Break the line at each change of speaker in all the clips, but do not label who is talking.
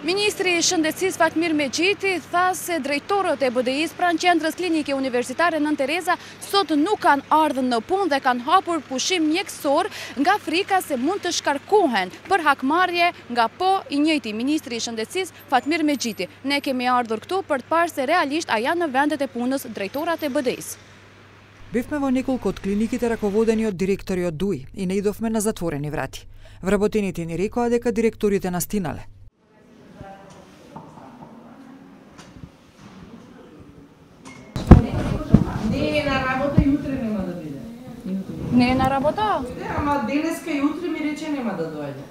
Ministri I Shëndetësisë Fatmir Megjiti tha se drejtorët e BDI-s pranë qendrës klinike universitare Nën Tereza sot nuk kanë ardhur në punë dhe kanë hapur pushim mjekësor nga frika se mund të shkarkohen për hakmarrje nga I njëjti ministri I Shëndetësisë Fatmir Megjiti. Ne kemi ardhur këtu për të parë se realisht a janë në vendet e punës drejtorat e BDI-s.
Бевме во неколку од клиниките раководени од директори од ДУИ и не идовме на затворени врати. Вработените ни рекоа дека директорите настинале.
Не е на работа и утре нема да биде.
Не е на работа?
Ама денеска и утре ми рече нема да дојде.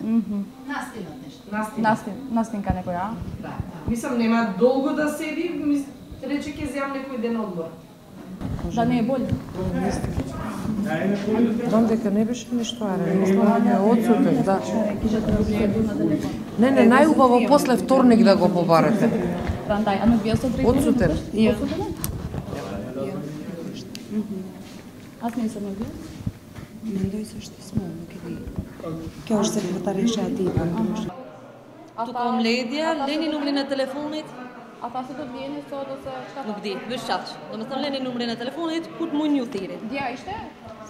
Настинат нешто. Настинка некоја?
Да. Мислам нема долго да седи, рече ќе земам некој ден одмор.
Да не е болен?
Дом дека не беше ништо арен, одсутен, да. Не, најубаво после вторник да го побарате.
Рандай, а не бил со дрейторот?
Одсутен.
Аз не сум бил.
Не дој со што сме, ќе уште секретариша ти помогнеш.
Тука омледија, Лени numri në telefonit.
Ata se do të vjeni sot ose çka?
Nuk di, veç çaq. Domethënë Leni numrin e telefonit, ku të mund ju thirrë.
Dja ishte?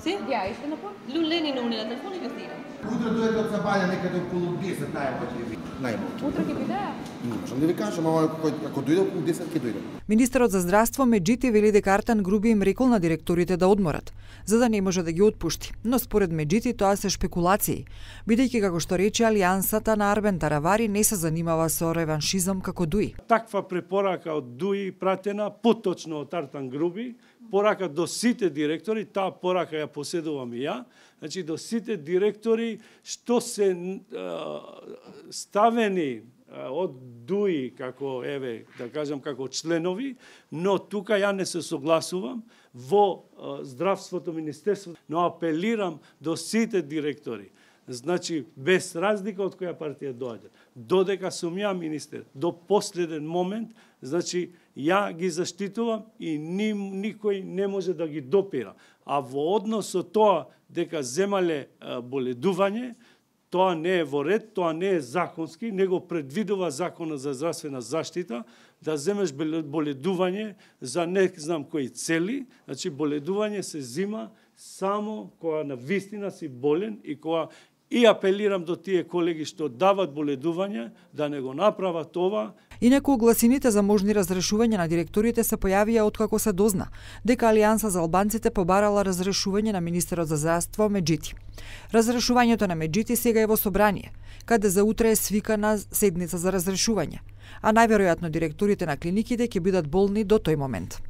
Si?
Dja ishte në punë?
Lu Leni numrin e telefonit ju thirrë.
Утре дојде од Сабања некаде околу 10 најмалку.
Утре ќе биде?
Не можам да ви кажам, ама ако дојде околу 10 ќе дојде.
Министерот за здравство Меджити вели дека Артан Груби им рекол на директорите да одморат, за да не може да ги отпушти. Но според Меджити тоа се шпекулации, бидејќи како што рече алијансата на Арбен Таравари не се занимава со реваншизам како ДУИ.
Таква препорака од ДУИ пратена поточно од Артан Груби, порака до сите директори, таа порака ја поседувам и ја, значи до сите директори што се ставени од ДУИ како да кажам како членови, но тука ја не се согласувам во здравството министерство, но апелирам до сите директори. Значи без разлика од која партија доаѓа, додека сум ја министер, до последен момент, значи ја ги заштитувам и никој не може да ги допира. А во однос со тоа дека земале боледување, тоа не е во ред, тоа не е законски, него предвидува Законот за здравствена заштита, да земеш боледување за не знам кои цели, значи боледување се зима само кога на вистина си болен и кога и апелирам до тие колеги што дават боледување да не го направат ова.
Инаку огласините за можни разрешување на директорите се појавија откако се дозна дека Алијанса за албанците побарала разрешување на министерот за здравство Меджити. Разрешувањето на Меджити сега е во собрание, каде за утре е свикана седница за разрешување, а најверојатно директорите на клиниките ќе бидат болни до тој момент.